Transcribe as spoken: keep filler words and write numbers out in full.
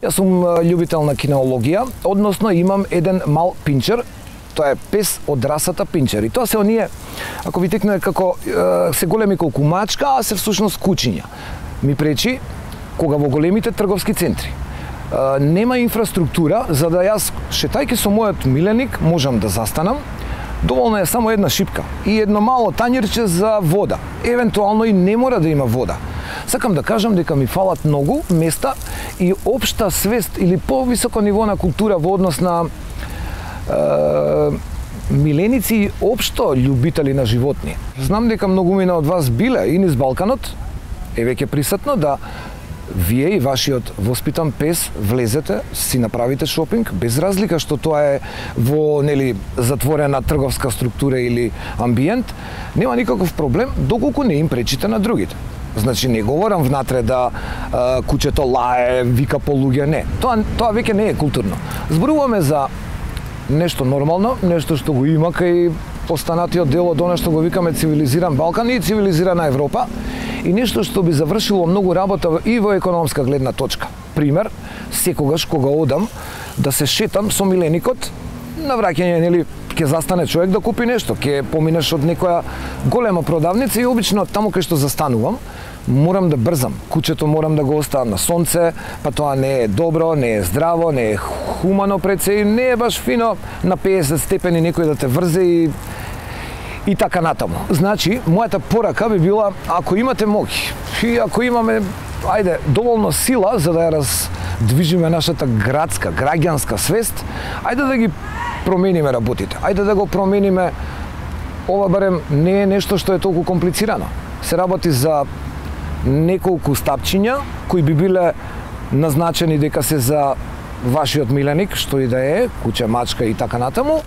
Јас сум љубител на кинеологија, односно имам еден мал пинчер, тоа е пес од расата пинчер. И тоа се оние, ако ви текне како се големи колку мачка, а се всушност кучиња. Ми пречи кога во големите трговски центри нема инфраструктура за да јас, шетајќи со мојот миленик, можам да застанам. Доволна е само една шипка и едно мало тањерче за вода. Евентуално и не мора да има вода. Сакам да кажам дека ми фалат многу места и општа свест или повисоко ниво на култура во однос на е, миленици и општо љубители на животни. Знам дека многумина од вас биле и низ Балканот, е веќе присутно да вие и вашиот воспитан пес влезете, си направите шопинг, без разлика што тоа е во нели затворена трговска структура или амбиент, нема никаков проблем доколку не им пречите на другите. Значи не говорам внатре да а, кучето лае, вика по луѓе, не. Тоа тоа веќе не е културно. Зборуваме за нешто нормално, нешто што го има кај останатиот дел од она што го викаме цивилизиран Балкан и цивилизирана Европа, и нешто што би завршило многу работа и во економска гледна точка. Пример, секогаш кога одам да се шетам со миленикот, на враќање, нели, ќе застане човек да купи нешто, ќе поминеш од некоја голема продавница и обично таму кај што застанувам, морам да брзам. Кучето морам да го оставам на сонце, па тоа не е добро, не е здраво, не е хумано пред се и не е баш фино на песет степени некој да те врзе и и така натаму. Значи, мојата порака би била, ако имате моќ и ако имаме, ајде, доволно сила за да ја раздвижиме нашата градска, граѓанска свест, ајде да ги промениме работите. Ајде да го промениме. Ова барем не е нешто што е толку комплицирано. Се работи за неколку стапчиња кои би биле назначени дека се за вашиот миленик, што и да е, куче, мачка и така натаму.